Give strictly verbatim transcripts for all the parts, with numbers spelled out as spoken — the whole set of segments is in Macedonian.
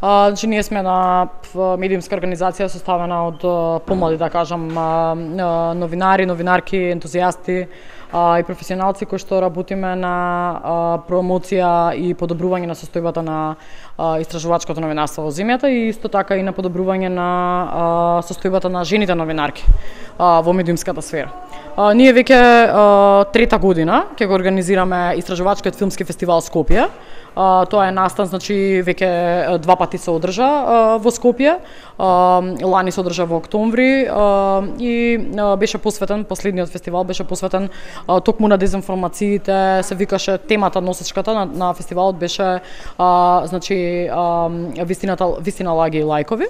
Значи ние сме на медиумска организација составена од помлади, да кажам, новинари, новинарки, ентузијасти и професионалци кои што работиме на промоција и подобрување на состојбата на истражувачкото новинарство во земјата и исто така и на подобрување на состојбата на жените новинарки во медиумската сфера. Ние веќе трета година ќе го организираме истражувачкиот филмски фестивал Скопје. Тоа е настан, значи веќе два пати се одржа во Скопје. Лани се одржа во октомври и беше посветен, последниот фестивал беше посветен токму на дезинформациите, се викаше темата носечката на, на фестивалот беше а, значи а, вистината вистина лаги и лајкови.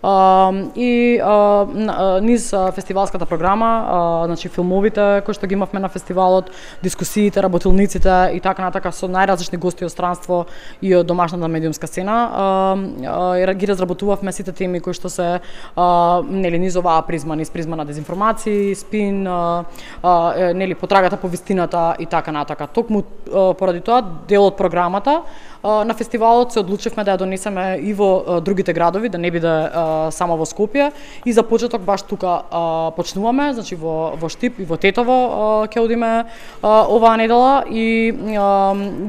Uh, и uh, низ uh, фестивалската програма, uh, значи филмовите кои што ги имавме на фестивалот, дискусиите, работилниците и така натака со најразлични гости од странство и од домашната медиумска сцена, uh, uh, ги разработувавме сите теми кои што се uh, нели низ оваа призма, низ призма на дезинформации, спин, uh, uh, нели потрагата по вистината и така натака. Токму uh, поради тоа дел од програмата на фестивалот се одлучивме да ја донесеме и во другите градови, да не биде само во Скопје и за почеток баш тука почнуваме, значи во во Штип и во Тетово ќе одиме оваа недела и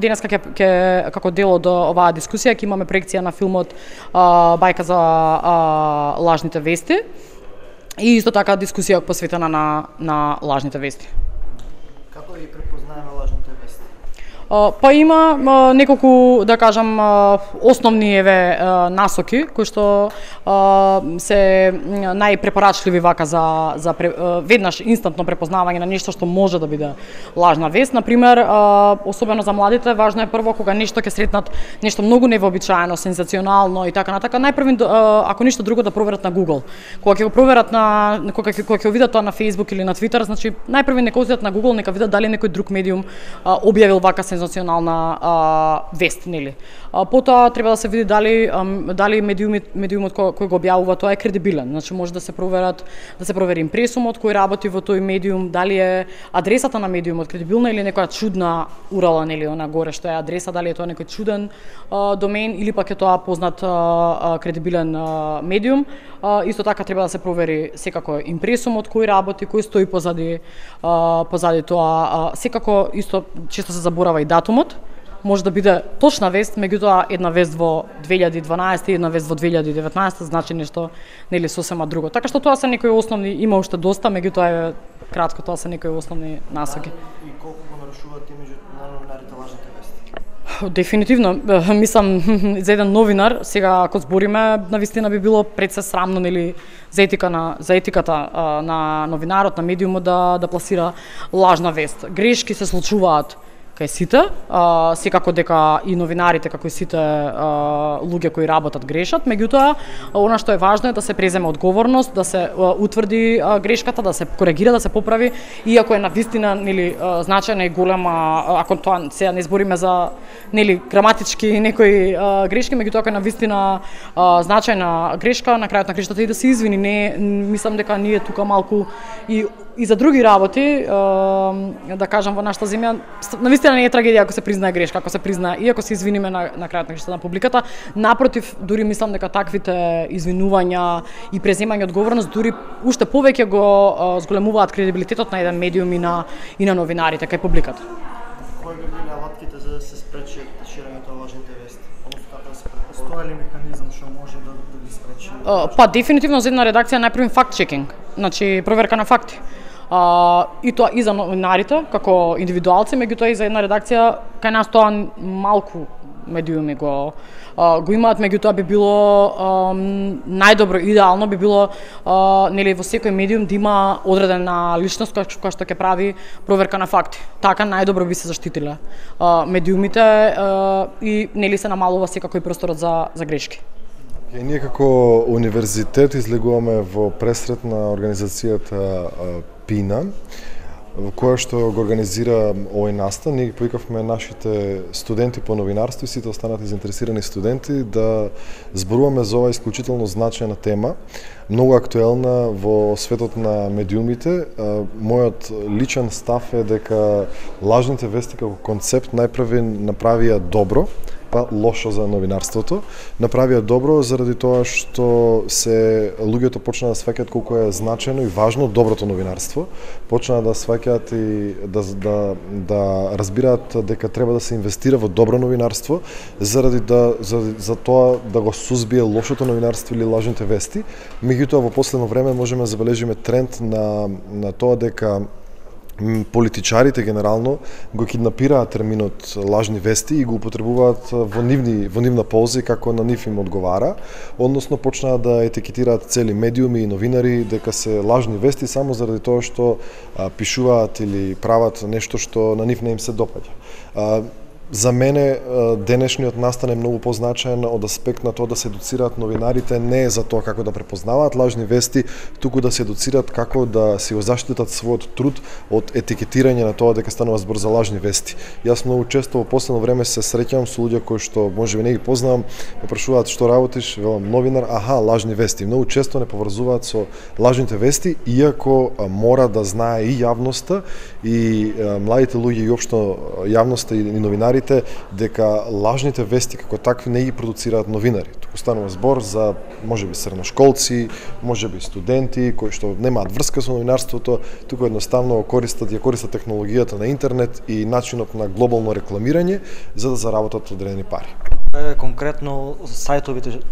денеска ќе ќе како дел од оваа дискусија ќе имаме проекција на филмот Бајка за лажните вести и исто така дискусија посветена на на лажните вести. Како ги препознаеме лажните вести? Па има неколку, да кажам, основни еве насоки кои што се најпрепорачливи вака за за веднаш инстантно препознавање на нешто што може да биде лажна вест. На пример, особено за младите, важно е прво кога нешто ќе сретнат нешто многу невообичаено, сензационално и така натака, најпрво ако ништо друго да проверат на Google. Кога ќе го проверат на кога ќе кога ќе видат тоа на Facebook или на Twitter, значи најпрво нека одат на Google, нека видат дали некој друг медиум објавил вака сензационална а, вест, нели. А, потоа треба да се види дали а, дали медиумот медиумот кој, кој го објавува тоа е кредибилен. Значи може да се проверат да се провери импресумот кој работи во тој медиум, дали е адресата на медиумот кредибилна или некоја чудна урала, нели, она горе што е адреса, дали е тоа некој чуден а, домен или пак е тоа познат а, а, кредибилен а, медиум. А, исто така треба да се провери секако импресумот кој работи, кој стои позади а, позади тоа. А, секако исто често се заборава и датумот. Може да биде точна вест, меѓутоа една вест во две илјади и дванаесета и една вест во две илјади и деветнаесета значи нешто нели сосема друго. Така што тоа се некои основни, има уште доста, меѓутоа е кратко, тоа се некои основни насоки. И колку го нарушуваат имиџот на новинарите лажните вести? Дефинитивно, мислам за еден новинар, сега ако збориме, навистина би било пред се срамно, нели, за етика на за етиката а, на новинарот, на медиумот да да пласира лажна вест. Грешки се случуваат кај сите, а, секако дека и новинарите, како и сите а, луѓе кои работат грешат, меѓутоа, она што е важно е да се преземе одговорност, да се а, утврди а, грешката, да се коригира, да се поправи, иако е навистина, нели, а, значајна и голема, ако тоа сега не збориме за, нели, граматички некои а, грешки, меѓутоа ако е навистина а, значајна грешка, на крајот на грешката и да се извини, не, мислам дека ние тука малку и и за други работи, да кажам, во нашата земја, навистина не е трагедија ако се признае грешка, ако се признае и ако се извиниме на, на крајот на грешката на публиката. Напротив, дури мислам дека таквите извинувања и преземање одговорност дури уште повеќе го зголемуваат кредибилитетот на еден медиум и на и на новинарите кај публиката. Кои би биле алатките за да се спречи ширењето на лажните вести? Односно како да се постои ли механизам што може да да ги спречи? Па дефинитивно за една редакција најпрво факт чекинг, значи проверка на факти. Uh, и тоа и за новинарите како индивидуалци, меѓутоа и за една редакција кај нас тоа малку медиуми го uh, го имаат, меѓутоа би било um, најдобро, идеално би било uh, нели во секој медиум да има одредена личност која, која што ќе прави проверка на факти. Така најдобро би се заштитиле uh, медиумите uh, и нели се намалува секако и просторот за за грешки. И ние како универзитет излегуваме во пресрет на организацијата Пина, во која што го организира овој настан. Ние ги повикавме нашите студенти по новинарство и сите останати заинтересирани студенти да зборуваме за оваа исклучително значајна тема, многу актуелна во светот на медиумите. Мојот личен став е дека лажните вести како концепт најпрви направија добро па лошо за новинарството. Направија добро заради тоа што се луѓето почнаа да сваќаат колку е значено и важно доброто новинарство, почнаа да сваќаат и да да да разбираат дека треба да се инвестира во добро новинарство заради да за, за тоа да го сузбие лошото новинарство или лажните вести. Меѓутоа во последно време можеме да забележиме тренд на на тоа дека политичарите генерално го киднапираат терминот лажни вести и го употребуваат во нивни во нивна полза како на нив им одговара, односно почнаа да етикетираат цели медиуми и новинари дека се лажни вести само заради тоа што а, пишуваат или прават нешто што на нив не им се допаѓа. А, За мене денешниот настан е многу позначаен од аспект на тоа да се едуцираат новинарите не за тоа како да препознаваат лажни вести, туку да се едуцираат како да се го заштитат својот труд од етикетирање на тоа дека станува збор за лажни вести. Јас многу често во последно време се среќавам со луѓе кои што можеби не ги познавам, ме прашуваат што работиш, велам новинар, аха, лажни вести. Многу често не поврзуваат со лажните вести, иако мора да знае и јавноста и младите луѓе и општо јавноста и новинари дека лажните вести како такви не ги продуцираат новинари. Туку станува збор за можеби средношколци, можеби студенти кои што немаат врска со новинарството, туку едноставно користат ја користат технологијата на интернет и начинот на глобално рекламирање за да заработат одредени пари. Конкретно сајтовите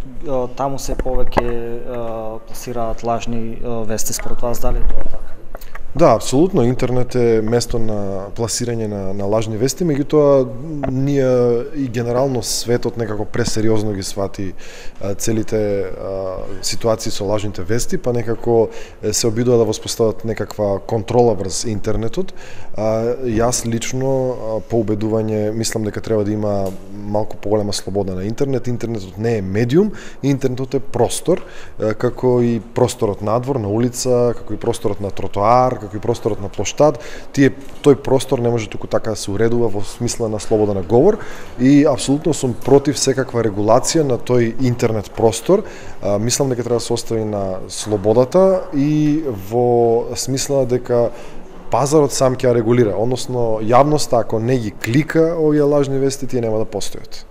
таму се повеќе пласираат лажни вести, според вас дали тоа така? Да, апсолутно, интернет е место на пласирање на, на лажни вести, меѓутоа ние и генерално светот некако пресериозно ги свати а, целите а, ситуации со лажните вести, па некако се обидува да воспостават некаква контрола врз интернетот. А, јас лично а, по убедување мислам дека треба да има малку поголема слобода на интернет. Интернетот не е медиум, интернетот е простор, а, како и просторот надвор, на улица, како и просторот на тротоар, како и просторот на плоштад, тие тој простор не може туку така да се уредува во смисла на слобода на говор и апсолутно сум против секаква регулација на тој интернет простор. А, мислам дека треба да се остави на слободата и во смисла дека пазарот сам ќе ја регулира, односно јавноста ако не ги клика овие лажни вести, тие нема да постојат.